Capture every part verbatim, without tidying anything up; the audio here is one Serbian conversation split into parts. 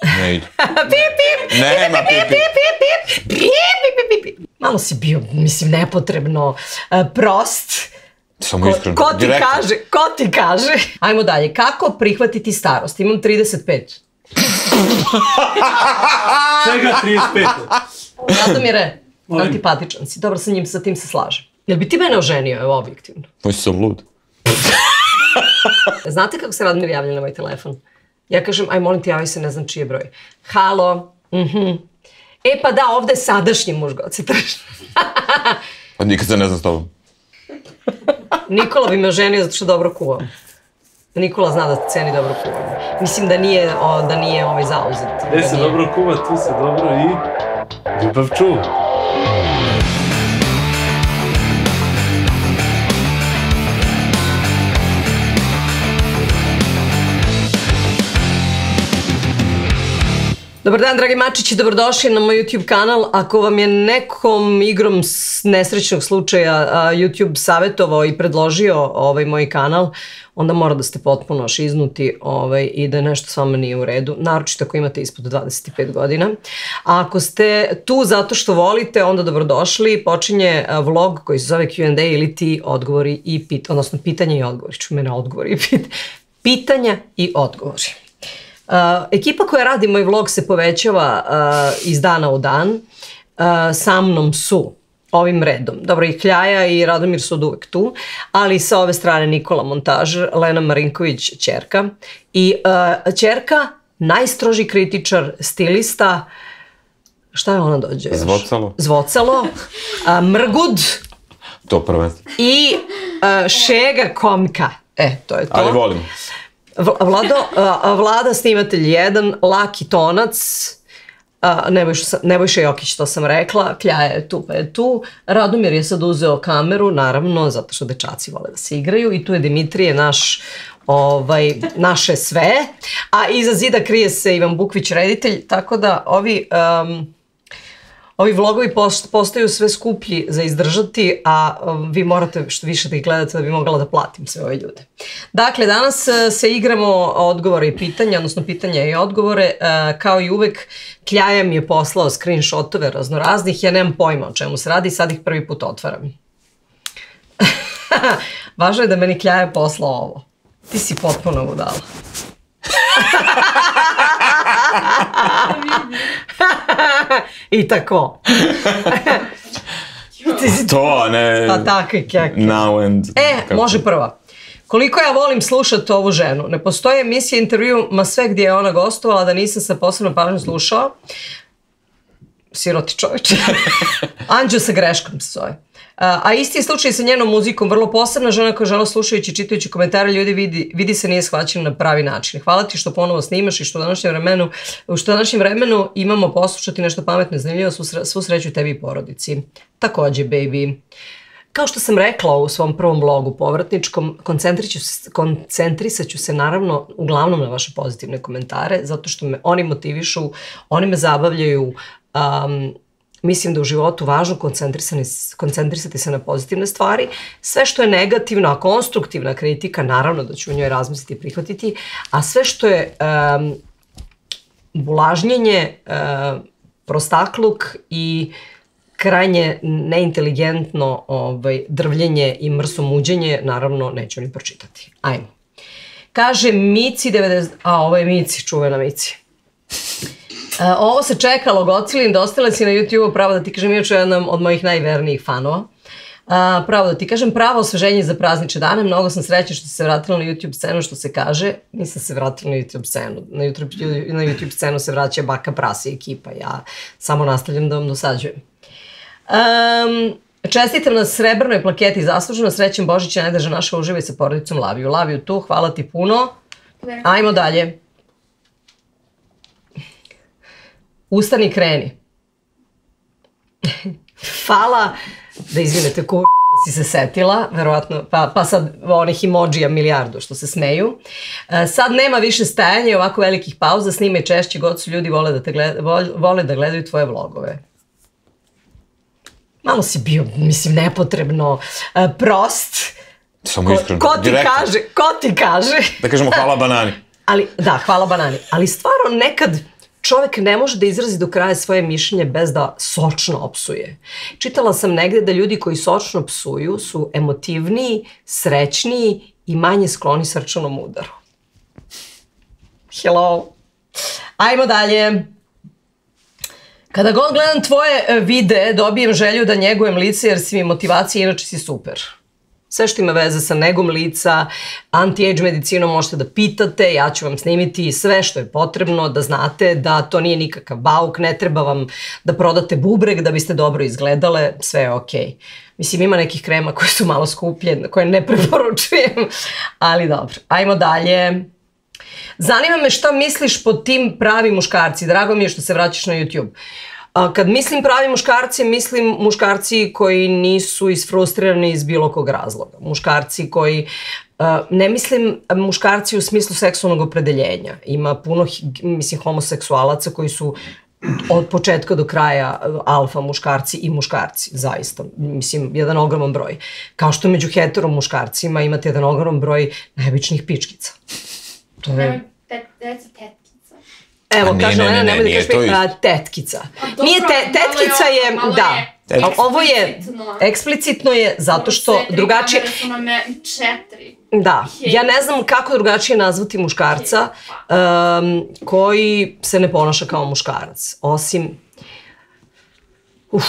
Ne ide. Pip, pip! Nema pip, pip! Pip, pip, pip, pip! Malo si bio, mislim, nepotrebno prost. Samo iskreno. Ko ti kaže, ko ti kaže? Ajmo dalje, kako prihvatiti starost? Imam trideset pet. Čega trideset pet? Radomire, antipatičan si, dobro, sa njim, sa tim se slažem. Jel bi ti mene oženio, evo, objektivno? Moj sam lud. Znate kako se Radomir javlja na moj telefon? Ja kažem, aj molim ti, javi se, ne znam čiji je broj. Halo, mhm. E pa da, ovde je sadašnji muž, god se traži. Pa nikad se ne znam s tobom. Nikola bi me oženio zato što dobro kuvam. Nikola zna da ceni dobro kuvam. Mislim da nije, da nije ovaj zauzet. Gde se dobro kuva, tu se dobro i ljubav čuva. Dobar dan, dragi mačići, dobrodošli na moj YouTube kanal. Ako vam je nekom igrom nesrećnog slučaja YouTube savjetovao i predložio ovaj moj kanal, onda mora da ste potpuno šiznuti i da nešto s vama nije u redu, naročito ako imate ispod dvadeset pet godina. A ako ste tu zato što volite, onda dobrodošli. Počinje vlog koji se zove Q and A ili ti odgovori i pitanja, odnosno pitanja i odgovori. Ču mene odgovori i pitanja. Pitanja i odgovori. Ekipa koja radi moj vlog se povećava iz dana u dan. Sa mnom su ovim redom. Dobro, i Kljaja i Radomir su od uvek tu, ali sa ove strane Nikola montažer, Lena Marinković ćerka i ćerka, najstroži kritičar, stilista, šta je ona dođe? Zvocalo. Zvocalo, Mrgud. To prvenstvo. I Šega komka. E, to je to. Ali volim. Vlado, Vlada snimatelj jedan, Laki Tonac, Nebojša Jokić, to sam rekla, Kljaja je tu pa je tu, Radomir je sad uzeo kameru, naravno, zato što dečaci vole da se igraju i tu je Dimitrije, naš, naše sve, a iza zida krije se Ivan Bukvić, reditelj, tako da ovi... Ovi vlogovi postaju sve skuplji za izdržati, a vi morate što više da ih gledate da bi mogla da platim sve ove ljude. Dakle, danas se igramo odgovore i pitanja, odnosno pitanja i odgovore. Kao i uvek, Kljaja mi je poslao screenshotove raznoraznih, ja nemam pojma o čemu se radi, sad ih prvi put otvaram. Važno je da meni Kljaja poslao ovo. Ti si potpuno budala. I tako. To, ne... Pa tako i kjak. Now and... E, može prva. Koliko ja volim slušati ovu ženu. Ne postoje emisije, intervju, ma sve gdje je ona gostovala, da nisam se posebno pažnju slušao. Siroti čovječe. Anđeo sa greškom se zove. A isti je slučaj sa njenom muzikom, vrlo posebna žena koja žena slušajući i čitajući komentare ljudi vidi se nije shvaćena na pravi način. Hvala ti što ponovo snimaš i što u današnjem vremenu, što u današnjem vremenu imamo poslušati nešto pametno i zanimljivo, svu sreću tebi i porodici. Također, baby. Kao što sam rekla u svom prvom vlogu povratničkom, koncentrisat ću se naravno uglavnom na vaše pozitivne komentare, zato što me oni motivišu, oni me zabavljaju. Mislim da u životu važno koncentrisati se na pozitivne stvari. Sve što je negativno, a konstruktivna kritika, naravno da ću u njoj razmisliti i prihvatiti, a sve što je bulažnjenje, prostakluk i krajnje neinteligenitno drvljenje i mrsomuđenje, naravno neću ni pročitati. Ajmo. Kaže Mici devedeset... A, ovo je Mici, čuvena Mici. Ovo se čekalo, Gocilin, dostala si na YouTube-u, pravo da ti kažem, još jedan od mojih najvernijih fanova. Pravo da ti kažem, pravo osveženje za praznične dane, mnogo sam srećna što si se vratila na YouTube scenu, što se kaže, nisam se vratila na YouTube scenu, na YouTube scenu se vraća Baka Prasi i ekipa, ja samo nastavljam da vam dosađujem. Čestitam na srebrnoj plaketi zasluženo, srećen Božića, najdraža naša, uživaj sa porodicom, love you, love you tu, hvala ti puno. Ajmo dalje. Ustani i kreni. Hvala, da izvinete kur... da si se setila, verovatno, pa sad onih emođija milijardu što se smeju. Sad nema više stajanja i ovako velikih pauza, snimaj češće, god su ljudi vole da gledaju tvoje vlogove. Malo si bio, mislim, nepotrebno prost. Samo iskreno, ko ti kaže, ko ti kaže. Da kažemo hvala banani. Da, hvala banani. Ali stvarno nekad čovek ne može da izrazi do kraja svoje mišljenje bez da sočno opsuje. Čitala sam negde da ljudi koji sočno psuju su emotivniji, srećniji i manje skloni srčanom udaru. Hello. Ajmo dalje. Kada god gledam tvoje videe, dobijem želju da njegujem lice jer si mi motivacija, inače si super. Sve što ima veze sa negom lica, anti-age medicinom možete da pitate, ja ću vam snimiti sve što je potrebno, da znate da to nije nikakav bauk, ne treba vam da prodate bubreg da biste dobro izgledale, sve je okej. Mislim, ima nekih krema koje su malo skuplje, koje ne preporučujem, ali dobro. Ajmo dalje. Zanima me šta misliš pod tim pravi muškarci. Drago mi je što se vraćaš na YouTube. Kad mislim pravi muškarci, mislim muškarci koji nisu isfrustrirani iz bilo kog razloga. Muškarci koji, ne mislim muškarci u smislu seksualnog opredeljenja. Ima puno, mislim, homoseksualaca koji su od početka do kraja alfa muškarci i muškarci, zaista. Mislim, jedan ogroman broj. Kao što među hetero muškarcima imate jedan ogroman broj najobičnijih pičkica. To je... Reci tetkica. Evo, kaže Lena, nemoj da kažeš tetkica. Nije, tetkica je, da. Ovo je, eksplicitno je, zato što drugačije... Kamere su nam četiri. Da, ja ne znam kako drugačije nazvati muškarca koji se ne ponaša kao muškarac, osim... Uf,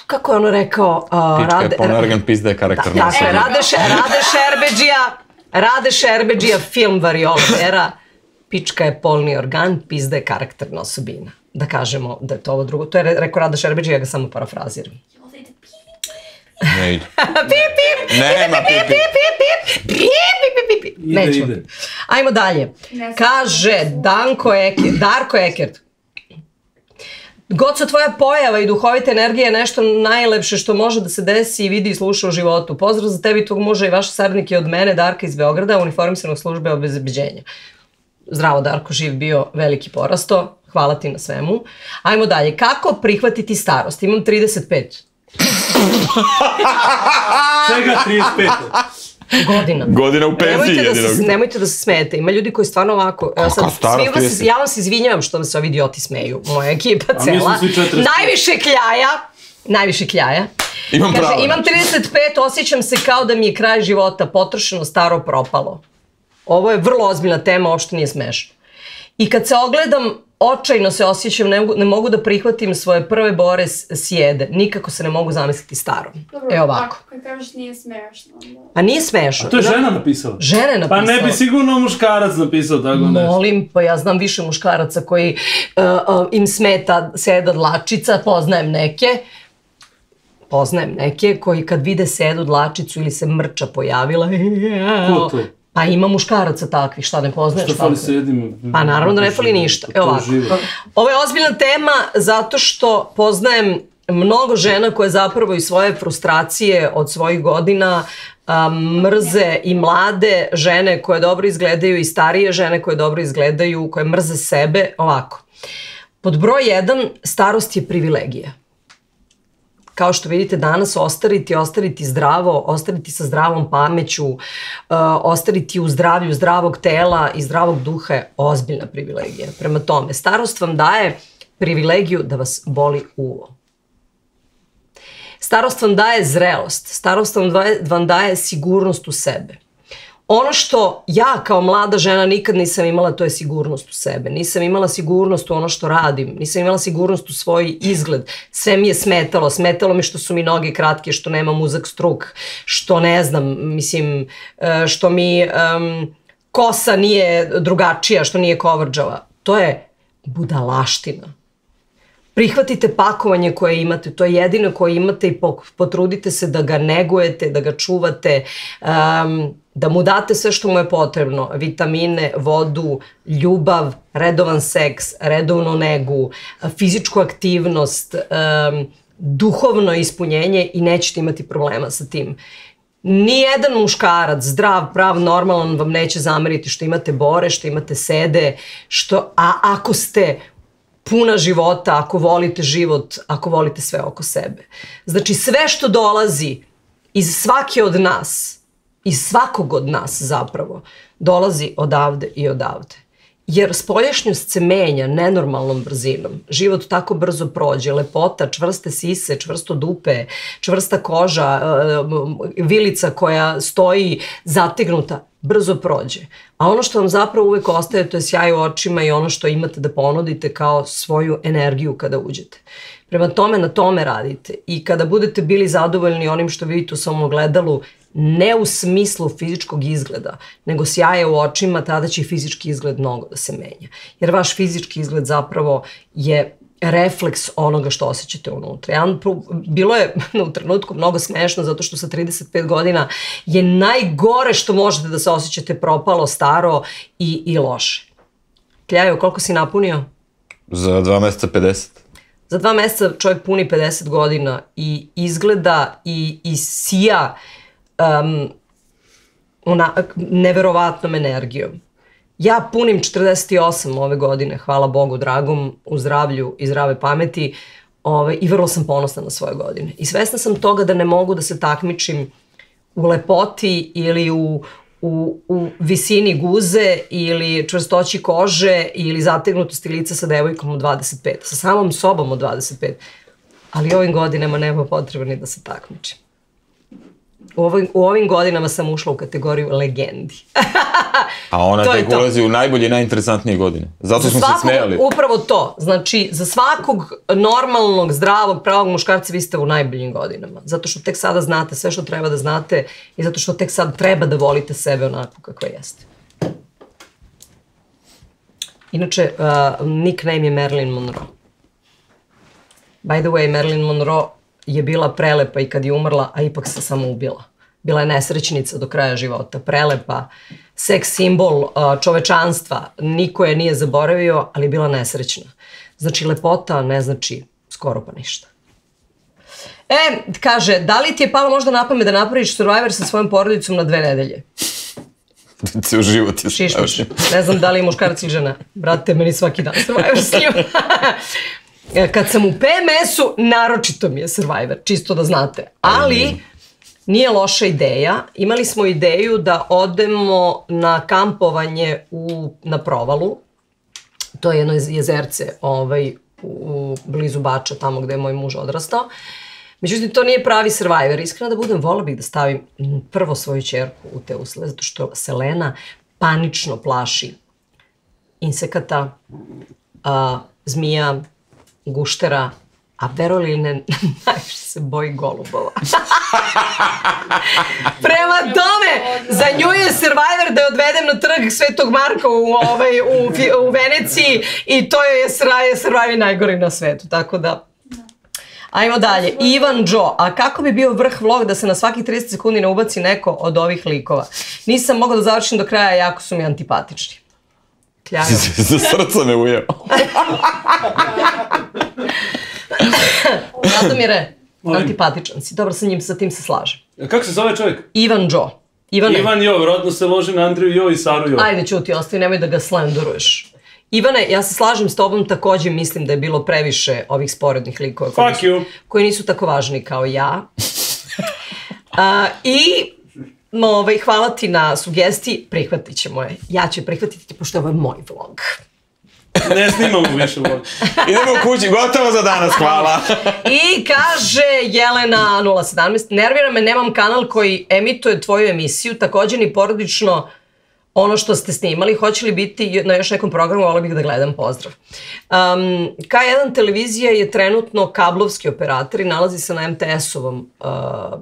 kako je ono rekao... Pička je ponergan, pizda je karakterna osobina. Dakle, Rade Šerbedžija, Rade Šerbedžija, film Variola Vera, pička je polni organ, pizda je karakterna osobina. Da kažemo da je to ovo drugo. To je rekao Rade Šerbedžija, ja ga samo parafraziram. Ne ide. Pip, pip! Nema pip, pip! Pip, pip, pip, pip! Nećemo. Ajmo dalje. Kaže Danko Ekert, Darko Ekert. Goco, tvoja pojava i duhovita energija je nešto najlepše što može da se desi i vidi i sluša u životu. Pozdrav za tebi, tvog muža i vaše saradnike od mene, Darka iz Beograda, uniformisanog službe obezbeđenja. Zdravo, Darko, živ bio, veliki porasto. Hvala ti na svemu. Ajmo dalje. Kako prihvatiti starost? Imam trideset pet. Čega trideset pet? Godina. Godina u penziji jedinog. Nemojte da se smijete. Ima ljudi koji stvarno ovako... Ja vam se izvinjavam što vam se ovi idioti smeju. Moja ekipa cela. Najviše kljaja. Najviše kljaja. Imam pravo. Kaže, imam trideset pet, osjećam se kao da mi je kraj života, potrošeno, staro, propalo. Ovo je vrlo ozbiljna tema, uopšte nije smešno. I kad se ogledam, očajno se osjećam, ne mogu da prihvatim svoje prve bore sjede. Nikako se ne mogu zamisliti starom. Evo ovako. Dobro, kad kažeš nije smešno. Pa nije smešno. A to je žena napisala? Žena je napisala. Pa ne bi sigurno muškarac napisao tako nešto. Molim, pa ja znam više muškaraca koji im smeta seda dlačica, poznajem neke. Poznajem neke koji kad vide sedu dlačicu ili se mrča pojavila. Ko to? Pa ima muškaraca takvih, šta ne poznaješ? Šta fali sedim? Pa naravno da ne fali ništa. Evo ovako. Ovo je ozbiljna tema zato što poznajem mnogo žena koje zapravo i svoje frustracije od svojih godina mrze i mlade žene koje dobro izgledaju i starije žene koje dobro izgledaju, koje mrze sebe. Ovako. Pod broj jedan, starost je privilegija. Kao što vidite danas, ostariti, ostariti zdravo, ostariti sa zdravom pameću, ostariti u zdravlju zdravog tela i zdravog duha je ozbiljna privilegija. Prema tome, starost vam daje privilegiju da vas boli uvo. Starost vam daje zrelost, starost vam daje sigurnost u sebe. Ono što ja kao mlada žena nikad nisam imala, to je sigurnost u sebe. Nisam imala sigurnost u ono što radim, nisam imala sigurnost u svoj izgled. Sve mi je smetalo, smetalo mi što su mi noge kratke, što nemam uzak struk, što ne znam, mislim, što mi kosa nije drugačija, što nije kovrđava. To je budalaština. Prihvatite pakovanje koje imate, to je jedino koje imate i potrudite se da ga negujete, da ga čuvate, da mu date sve što mu je potrebno, vitamine, vodu, ljubav, redovan seks, redovnu negu, fizičku aktivnost, duhovno ispunjenje i nećete imati problema sa tim. Nijedan muškarac, zdrav, prav, normalan vam neće zameriti što imate bore, što imate sede, a ako ste puna života, ako volite život, ako volite sve oko sebe. Znači sve što dolazi iz svake od nas, iz svakog od nas zapravo, dolazi odavde i odavde. jer spoljašnjost se menja nenormalnom brzinom. Život tako brzo prođe, lepota, čvrste sise, čvrsto dupe, čvrsta koža, vilica koja stoji zategnuta, brzo prođe. A ono što vam zapravo uvek ostaje, to je sjaj u očima i ono što imate da ponudite kao svoju energiju kada uđete. Prema tome, na tome radite. I kada budete bili zadovoljni onim što vidite u svom ogledalu, ne u smislu fizičkog izgleda, nego sjaje u očima, tada će i fizički izgled mnogo da se menja. Jer vaš fizički izgled zapravo je refleks onoga što osjećate unutra. Ja, bilo je u trenutku mnogo smešno zato što sa trideset pet godina je najgore što možete da se osjećate propalo, staro i, i loše. Kljajo, koliko si napunio? Za dva meseca pedeset. Za dva meseca čovjek puni pedeset godina i izgleda i, i sija um, ona, neverovatnom energijom. Ja punim četrdeset osam ove godine, hvala Bogu dragom, u zdravlju i zdrave pameti, ove, i vrlo sam ponosna na svoje godine. I svesna sam toga da ne mogu da se takmičim u lepoti ili u, u, u visini guze ili čvrstoći kože ili zategnutosti lica sa devojkom od dvadeset pet, sa samom sobom od dvadeset pet. Ali ovim godinama nema potrebe ni da se takmičim. U, ovim, u ovim godinama sam ušla u kategoriju legendi. A ona tek ulazi u najbolje i najinteresantnije godine. Zato smo se smejali. Upravo to. Znači, za svakog normalnog, zdravog, pravog muškarca vi ste u najboljim godinama. Zato što tek sada znate sve što treba da znate i zato što tek sad treba da volite sebe onako kakva jeste. Inače, uh, nickname je Marilyn Monroe. By the way, Marilyn Monroe je bila prelepa i kad je umrla, a ipak se samo ubila. Bila je nesrećnica do kraja života, prelepa, seks simbol čovečanstva, niko je nije zaboravio, ali je bila nesrećna. Znači, lepota ne znači skoro pa ništa. E, kaže, da li ti je palo možda na pamet da napraviš Survivor sa svojom porodicom na dve nedelje? Ceo život je Šišmiš. Ne znam da li je muškarac ili žena. Brate, meni svaki dan Survivor s njim. Kad sam u P M S-u, naročito mi je Survivor, čisto da znate. Ali, nije loša ideja. Imali smo ideju da odemo na kampovanje u, na Provalu. To je jedno jezerce ovaj, u blizu Bača, tamo gde je moj muž odrastao. Međutim, to nije pravi Survivor. Iskreno da budem, vola bih da stavim prvo svoju ćerku u te uslove, zato što Selena panično plaši insekata, a, zmija, guštera, a verovali ili ne, najviše se boji golubova. Prema tome, za nju je Survivor da je odvedem na trg Svetog Marka u, ovaj, u, u Veneciji i to je Survivor najgori na svetu, tako da... Ajmo dalje. Ivan Joe, a kako bi bio vrh vlog da se na svakih trideset sekundi ne ubaci neko od ovih likova? Nisam mogla da završim do kraja, jako su mi antipatični. Kljajo. Za srca me ujeo. Radomire, antipatičan si. Dobro, sa njim, sa tim se slažem. Kako se zove čovjek? Ivan Joe. Ivane. Ivan Jo, rodno se loži na Andriju Jo i Saru Jo. Ajde, ćuti, ostavi, nemoj da ga slenderuješ. Ivane, ja se slažem s tobom, također mislim da je bilo previše ovih sporednih likova koji, Fuck nisu, you. koji nisu tako važni kao ja. A, I ovaj, hvala ti na sugestiji, prihvatit ćemo je. Ja ću prihvatiti, pošto ovo je moj vlog. Ne snimamo više vlog. Idemo u kući, gotovo za danas, hvala. I kaže Jelena nula sedamnaest, nervira me, nemam kanal koji emituje tvoju emisiju, također ni porodično ono što ste snimali, hoće li biti na još nekom programu, volila bih da gledam, pozdrav. Um, K jedan televizija je trenutno kablovski operator i nalazi se na M T S-ovom uh,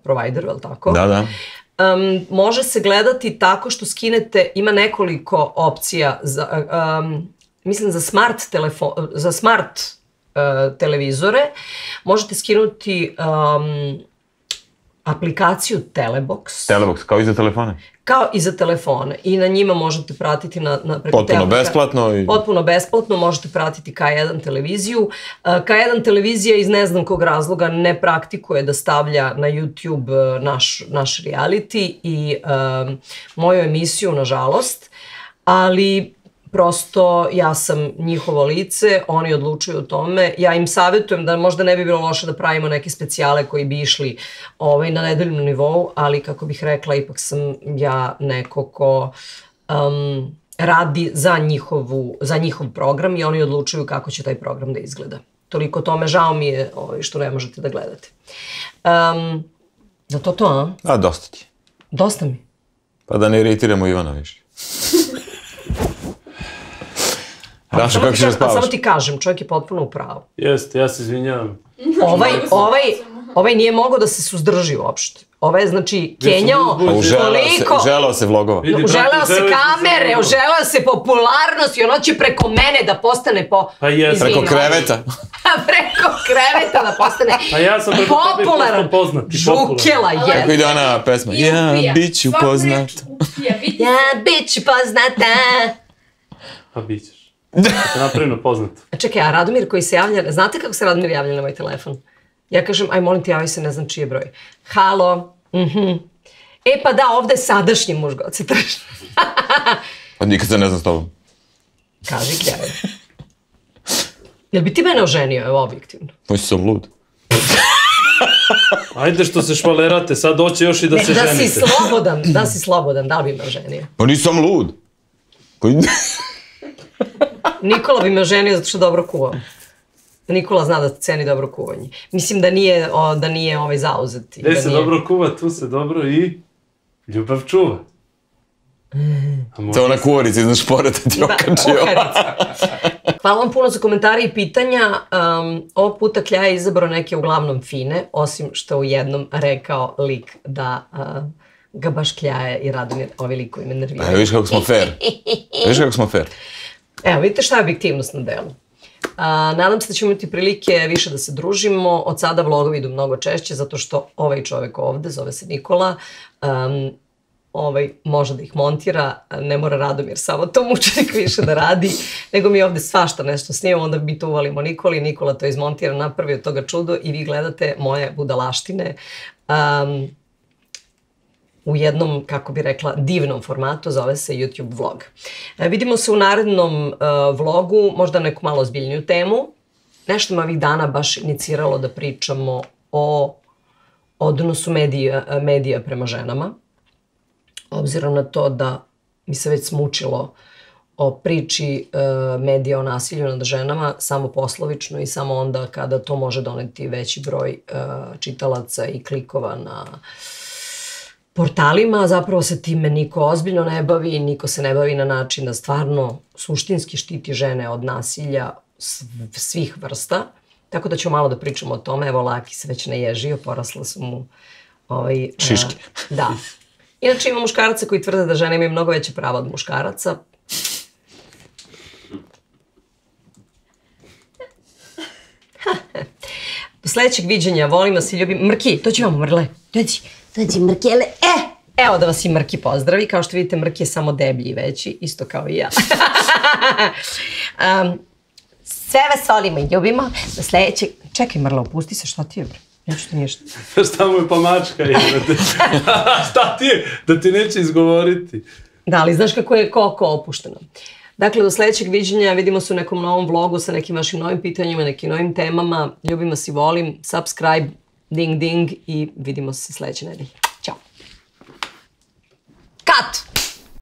provideru, je li tako? Da, da. Um, može se gledati tako što skinete, ima nekoliko opcija, za, um, mislim za smart, telefon, za smart uh, televizore, možete skinuti um, aplikaciju Telebox. Telebox, kao i za telefone. Kao i za telefone. I na njima možete pratiti na, na preko potpuno telefona. besplatno. I... Potpuno besplatno, možete pratiti K jedan televiziju. K jedan televizija iz ne znam kog razloga ne praktikuje da stavlja na YouTube naš, naš reality i um, moju emisiju, nažalost. Ali prosto ja sam njihovo lice, oni odlučuju o tome. Ja im savjetujem da možda ne bi bilo loše da pravimo neke specijale koji bi išli ovaj, na nedeljnom nivou, ali kako bih rekla, ipak sam ja neko ko um, radi za, njihovu, za njihov program i oni odlučuju kako će taj program da izgleda. Toliko tome, žao mi je ovaj, što ne možete da gledate. Um, da to to, a? A, dosta ti. Dosta mi. Pa da ne iritiramo Ivana više. Rašo, kako ćeš da spavaš? Samo ti kažem, čovjek je potpuno u pravu. Jeste, ja se izvinjavam. Ovaj, ovaj, ovaj nije mogao da se suzdrži uopšte. Ovaj je, znači, kenjao toliko... Uželao se vlogova. Uželao se kamere, uželao se popularnost i ono će preko mene da postane po... Pa jesam. Preko kreveta. Preko kreveta da postane Pa ja sam preko tebe postao poznat. Žukela je. Kako ide ona pesma? Ja, bit ću poznat. Ja, bit ću poznata. Pa bit ćeš. Tako napravljeno poznat. Čekaj, a Radomir koji se javlja, znate kako se Radomir javlja na moj telefon? Ja kažem, aj molim ti, javi se, ne znam čiji je broj. Halo, mhm. E pa da, ovde je sadašnji muž Goce Tršan. Pa nikad se ne znam s tobom. Kaži gdje. Jel bi ti mene oženio, evo, objektivno? Pa sam lud. Ajde što se švalerate, sad doće još i da ne, se da ženite. Da si slobodan, da si slobodan, da li bi me oženio? Pa nisam lud. Koji... Nikola bi me oženio zato što dobro kuvam. Nikola zna da ceni dobro kuvanje. Mislim da nije, o, da nije ovaj zauzet. Gde da se nije... dobro kuva, tu se dobro i ljubav čuva. To je ona kuvarica iznad šporeta ti okačio. Hvala vam puno za komentare i pitanja. Um, ovog puta Klja je izabrao neke uglavnom fine, osim što u jednom rekao lik da uh, ga baš Kljaje i Radomir, ovi likovi me nerviraju. Evo viš kako smo fair. Viš kako smo fair. Evo, vidite šta je objektivnost na delu. A, nadam se da ćemo imati prilike više da se družimo. Od sada vlogovi idu mnogo češće, zato što ovaj čovjek ovde, zove se Nikola, um, ovaj može da ih montira, ne mora Radomir samo to mučenik više da radi, nego mi ovde svašta nešto snimamo, onda mi to uvalimo Nikoli, Nikola to izmontira, napravi od toga čudo i vi gledate moje budalaštine. Um, u jednom, kako bi rekla, divnom formatu, zove se YouTube vlog. E, vidimo se u narednom uh, vlogu, možda neku malo ozbiljniju temu. Nešto me ovih dana baš iniciralo da pričamo o odnosu medija, medija prema ženama. Obzirom na to da mi se već smučilo o priči uh, medija o nasilju nad ženama, samo poslovično i samo onda kada to može doneti veći broj uh, čitalaca i klikova na portalima, zapravo se time niko ozbiljno ne bavi, niko se ne bavi na način da stvarno suštinski štiti žene od nasilja svih vrsta. Tako da ću malo da pričamo o tome. Evo, Laki se već naježio, porasla su mu ovaj, šiške. Uh, da. Inače ima muškaraca koji tvrde da žene imaju mnogo veće prava od muškaraca. Do sledećeg viđenja, volim vas i ljubim. Mrki, dođi vamo, Mrle. Dođi. Dođi, Mrkele. E! Evo da vas i Mrki pozdravi. Kao što vidite, Mrki je samo deblji i veći, isto kao i ja. um, sve vas volimo i ljubimo. Do sledećeg... Čekaj, Mrle, opusti se, šta ti je, bre? Neću ti ništa. Šta mu je pa mačka je? Šta ti je? Da ti neće izgovoriti. Da, ali znaš kako je koko opušteno. Dakle, do sledećeg viđenja, vidimo se u nekom novom vlogu sa nekim vašim novim pitanjima, nekim novim temama. Ljubim vas i volim. Subscribe, ding ding i vidimo se sledeće nedelje. Ćao. Cut!